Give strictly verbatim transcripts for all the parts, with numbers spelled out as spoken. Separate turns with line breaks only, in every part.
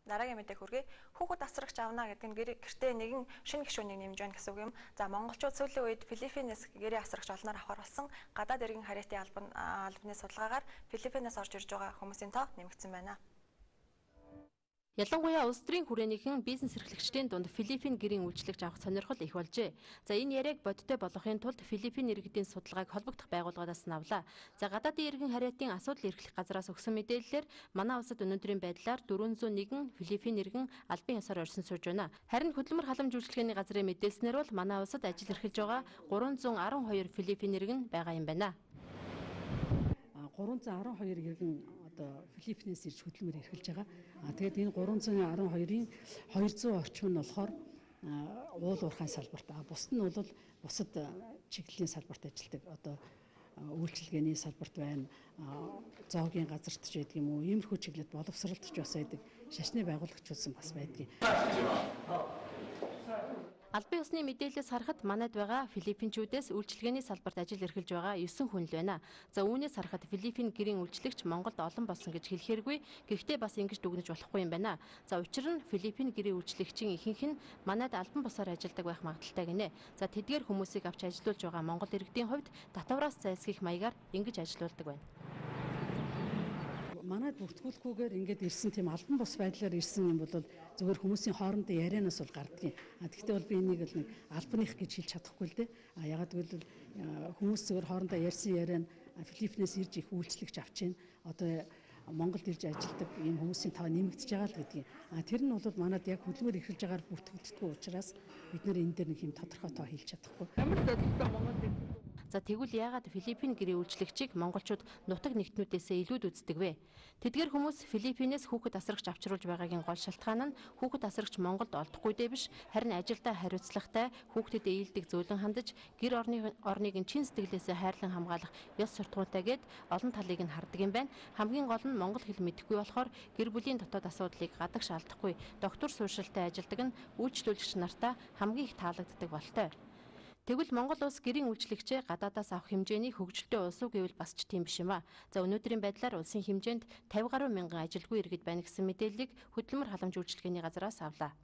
Дараагийн мэдээ хүргэе. Хүүхэд асрагч авна гэдэг нь гэртээ нэгэн шинэ гишүүнийг нэмж байна гэсэн үг юм. За монголчууд сүүлийн үед Филиппинээс гэрээ асрагч олноор авахар болсон. Гадаад иргэн харьяатын албан албаны судалгаагаар Филиппинээс орж ирж байгаа хүмүүсийн тоо нэмэгдсэн байна.
Ялангуяа улс төрийн хүрээнийхэн бизнес эрхлэгчдийн дунд Филиппин гэрийн үйлчлэгч авах сонирхол их болжээ. За энэ яриаг бодиттой болгохын тулд Филиппин иргэдийн судалгааг холбогдох байгууллагаас нь авлаа. За гадаадын иргэн харьяатын асуудал эрхлэх газраас өгсөн мэдээллээр манай улсад өнөөдрийн байдлаар дөрвөн зуун нэгэн Филиппин иргэн албан ёсоор орсон сууж байна. Харин хөдөлмөр халамж үйлчлэгээний газрын мэдээлснээр бол манай улсад ажил эрхэлж байгаа гурван зуун арван хоёр Филиппин иргэн байгаа юм байна.
гурван зуун арван хоёр иргэн Филиппинээс ирж хөдөлмөр эрхэлж байгаа. А тэгээд энэ гурван зуун арван хоёрын хоёр зуун орчим нь болохоор уул уурхайн салбарт. А бусд нь бол бусад чиглэлийн салбарт ажилладаг. Одоо үйлчилгээний салбарт байна. Зоогийн газарт ч байдаг юм уу? Иймэрхүү чиглэлд боловсролт ч бас байдаг. Шашны байгуулагчулсан бас байдаг.
Албан ёсны мэдээлэлээс харахад манайд байгаа Филиппинчүүдээс үйлчилгээний салбарт ажил эрхэлж байгаа есөн хүн л байна. За үүнээс харахад Филиппин гэрийн үйлчлэгч Монголд олон болсон гэж хэлэхээргүй. Гэхдээ бас ингэж дүгнэж болохгүй юм байна. За учир нь Филиппин гэрийн үйлчлэгчийн ихэнх нь манайд албан бусаар ажилладаг байх магадaltaй гинэ. За тэдгээр хүмүүсийг авч ажилуулж байгаа Монгол иргэдийн хувьд татвараас зайлсхийх маягаар ингэж ажилуулдаг байна.
Манайд бүртгүүлэхгүйгээр ингээд ирсэн тийм албан бус байдлаар ирсэн юм бол зөвхөн хүмүүсийн хоорондын ярианаас бол гардгийн. А тэгвэл бол би энийг л нэг албаных гэж хэлж чадахгүй л дээ. А ягаад гэвэл хүмүүс зөвхөн хоорондоо ярьсан яриа нь Филиппинээс ирж их үйлчлэгч авч байна. Одоо Монголд ирж ажилладаг ийм хүмүүсийн тав нэмэгдэж байгаа л гэдгийг. А тэр нь бол манайд яг хөдөлмөр эрхэлж байгаагаар бүртгэгддэггүй учраас бид нэр энэ дээр нэг юм тодорхой тоо хэлж чадахгүй.
Ямар ч бодлоо Монголд За тэгвэл яагаад Филиппин гэрийн үйлчлэгчийг монголчууд нутаг нэгтнүүдээсээ илүүд үздэг вэ? Тэдгээр хүмүүс Филиппинээс хүүхэд асрагч авчруулж байгаагийн гол шалтгаан нь хүүхэд асрагч Монголд олдохгүйдээ биш, харин ажилдаа хариуцлагатай, хүүхдэд ээлдэг зөөлөн хандаж, гэр орны орныг нь чин сэтгэлээсээ хайрлан хамгаалах ёс суртахуунтай гэд олон талыг нь хардаг юм байна. Хамгийн гол нь монгол хэл мэдэхгүй болохоор гэр бүлийн дотоод асуудлыг гадагш алдахгүй, доктор сууршилтай ажилдаг нь үйлчлүүлэгч нартаа хамгийн их таалагддаг болтой. Тэгвэл Монгол улс гэрийн үйлчлэгчээ гадаадаас авах хэмжээний хөгжилтэй улс уу гэвэл бас ч тийм биш юм а. За өнөөдрийн байдлаар улсын хэмжээнд тавин гаруй мянган ажилгүй иргэд байна гэсэн мэдээллийг хөдөлмөр халамж үйлчлэгээний газраас авлаа.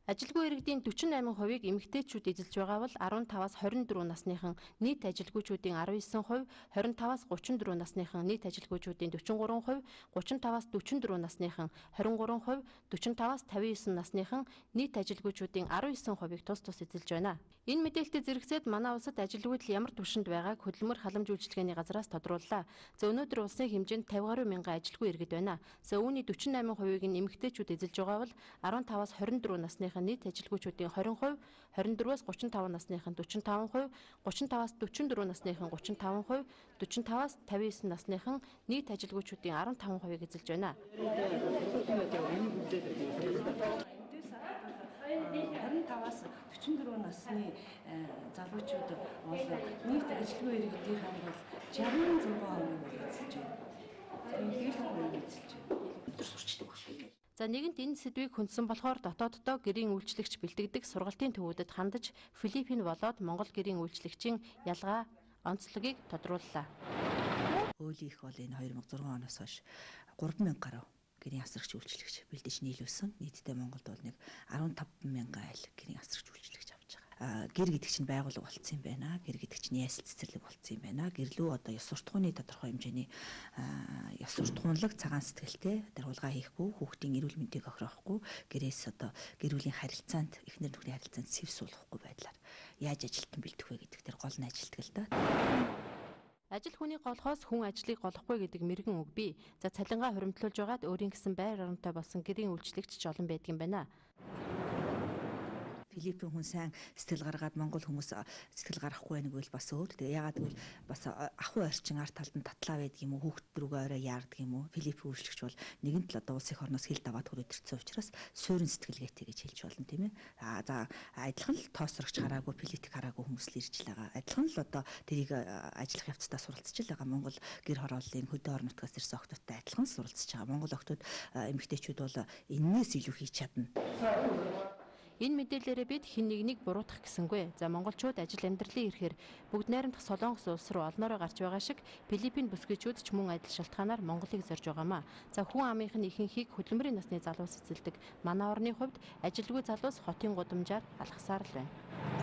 Ажилгүй иргэдийн дөрвөн восемь хувийг эмэгтэйчүүд эзэлж байгаа бол арван таваас хорин дөрвөн насныхан нийт ажилгүйчүүдийн арван девять хувь, хорин таваас гучин дөрвөн насныхан нийт ажилгүйчүүдийн дөрвөн три хувь, гучин таваас дөрвөн четыре насныхан двадцать три хувь, дөрвөн таваас пятьдесят девять насныхан нийт ажилгүйчүүдийн арван девять хувийг тус тус эзэлж байна. Энэ мэдээлэлтэй зэрэгцээд манай улсад ажилгүйдэл ямар түвшинд байгааг хөдөлмөр халамж үйлчлэгээний газраас тодрууллаа. За өнөөдөр улсын хэмжээнд тавин гаруй мянган ажилгүй иргэд байна. За үүний дөрвөн восемь хувийг нь эмэгтэйчүүд эзэлж байгаа бол арван таваас хорин дөрвөн насныхан нийт ажилгүйчүүдийн двадцать хувь, двадцать четыре-аас тридцать пять насныхан forty five хувь, тридцать таваас forty four насныхан thirty five хувь, forty таваас fifty nine насныхан нийт ажилгүйчүүдийн fifteen хувийг эзэлж байна.
хорин таваас forty four насны залуучууд бол нийт ажилгүй иргэдийн бол sixty хувийг эзэлж байна. Тэгээд хувийг эзэлж байна. Өдөр сурчдаг байна.
За нэгэнт энэ сэдвийг хүндсэн болохоор дотооддоо гэрийн үйлчлэгч бэлтгэдэг сургалтын төвүүдэд хандаж Филиппин болоод Монгол гэрийн үйлчлэгчийн ялгаа онцлогийг тодрууллаа.
Өөлийнх бол энэ two thousand six оноос хойш three thousand гаруй гэрийн асрагч үйлчлэгч бэлдэж нийлүүлсэн. Нийтдээ Монголд бол нэг fifteen thousand айл гэрийн асрагч үйлчлэгч авч байгаа. Гэр гэдэг чинь байгууллага болцсон юм байна. Гэр гэдэг чинь ясэл цэцэрлэг болцсон юм байна. Гэрлүү одоо ёс суртахууны тодорхой хэмжээний ёс суртахуунлаг цагаан сэтгэлтэй даргуулгаа хийхгүй, хүүхдийн эрүүл мэндийг охирохгүй, гэрээс одоо гэр бүлийн харилцаанд, эхнэр нөхрийн харилцаанд сэв суулгахгүй байдлаар яаж ажилтан бэлдэх вэ гэдэг дээр гол нь ажилтдаг л да.
Ажил хүний голхоос хүн ажлыг голохгүй гэдэг мэрэгэн үг бий. За цалингаа хуримтлуулж байгаад өөрийн гэсэн байр оронтой болсон гэрийн үйлчлэгч ч олон байдаг юм байна.
Филиппин хүн сайн сэтгэл гаргаад Монгол хүмүүс сэтгэл гарахгүй байнг бол бас өөр. Тэгээ ягаад гэвэл бас ахуй орчин арт талд нь татлаа байдаг юм уу, хүүхд рүүгээ орой яардаг юм уу. Филиппин үйлчлэгч бол нэгэнт л одоо улс их орноос хил даваад хүрээд ирсэн учраас суурин сэтгэлгээтэй гэж хэлж болно тийм ээ. Аа за адилхан л тоосрогч хараагүй, политик хараагүй хүмүүс л ирж л байгаа. Адилхан л одоо тэрийг ажиллах явцдаа суралцж л байгаа. Монгол гэр хорооллын хөдөө орон нутгаас ирсэн охтуудтай адилхан суралцж байгаа. Монгол охтууд эмэгтэйчүүд бол энээс илүү хийж чадна.
Энэ мэдээлэлээрээ бид хэн нэгнийг буруутгах гэсэнгүй. За монголчууд ажил амьдралын ирэхээр бүгд найрамдах Солонгос улс руу олноороо гарч байгаа шиг Филиппин бүсгүйчүүд ч мөн адил шалтгаанаар Монголыг зорж байгаамаа. За хүн амынх нь ихэнхийг хөдөлмөрийн насны залуус эзэлдэг манай орны хувьд ажилгүй залуус хотын гудамжаар алхасаар л байна.